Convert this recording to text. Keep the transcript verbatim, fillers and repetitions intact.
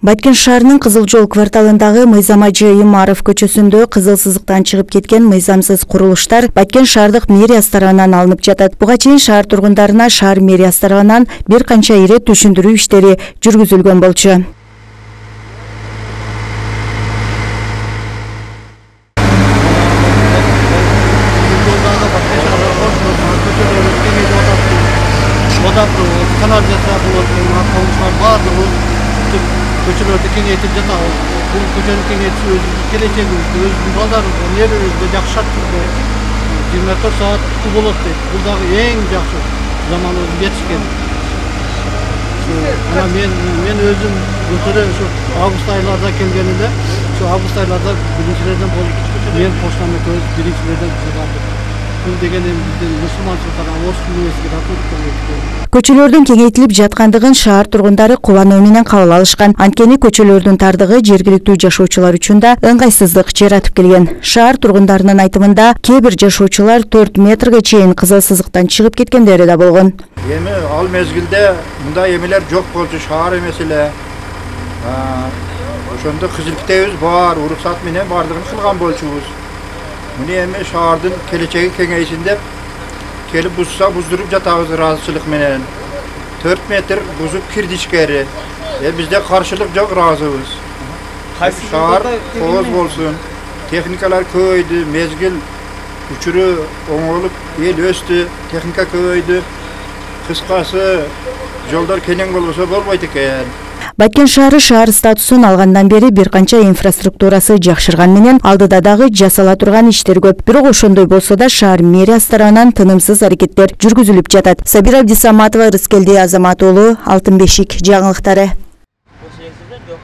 Баткен шаарынын Кызыл жол кварталындагы Мыйзам Ажы Имаров көчөсүндө кызыл сызыктан чыгып кеткен мыйзамсыз курулуштар Баткен шаардык мэриясы тарабынан алынып жатат. Буга чейин шаар тургундарына шаар мэриясы тарабынан бир канча ирет түшүндүрүү иштери жүргүзүлгөн болчу. Көчөлөрдү кеңейтип жатабыз. Бул көчөнү кеңейтүү өзүбүздүн келечегибизди, өзүбүздүн балдарыбызга, нервибизге жакшы шарт түрдө жыйырма төрт саат суу болот дейт. Бул дагы эң жакшы заманыбыз жетишкен. Ана мен мен өзүм былтыр ушу август айларда келгенде, ушу август айларда биринчилерден болуп, мен поштаны көз биринчилерден кылдым. Бул деген биздин мусулманчылыкка орус университетине катылып Көчөлөрдүн кеңейтилип жаткандыгын шаар тургундары кубануу менен кабыл алышкан. Анткени көчөлөрдүн тардыгы жергиликтүү жашоочулар үчүн да ыңгайсыздык жаратып келген. Шаар тургундарынын айтымында кээ бир жашоочулар төрт метрге чейин кызыл сызыктан чыгып кеткендери да болгон. Эми ал мезгилде мындай эмелер жок болчу, шаар эмес эле. Ошондо кызылыктебиз бар, уруксат менен бардыгын кылган болчубуз. Муну эми шаардын келечеги кеңейсин деп келип бузса буздуруп жатабыз ыраазычылык менен. төрт метр бузуп кирди ичкери. Э бизде каршылык жок, ыраазыбыз. Шаар кооз болсун. Техникалар көбөйдү, мезгил учуру оңолуп, эл өстү, техника көбөйдү. Кыскасы жолдор кенен болбосо болбойт экен. Баткен шаары шаар статусун алгандан бери бир канча инфраструктурасы жакшырган менен алдыда дагы жасала турган иштер көп. Бирок ошондой болсо да шаар мэриясы тарабынан тынымсыз аракеттер жүргүзүлүп жатат. Сабира Абдисаматова, Рыскелди Азамат уулу, Алтын бешик жаңылыктары.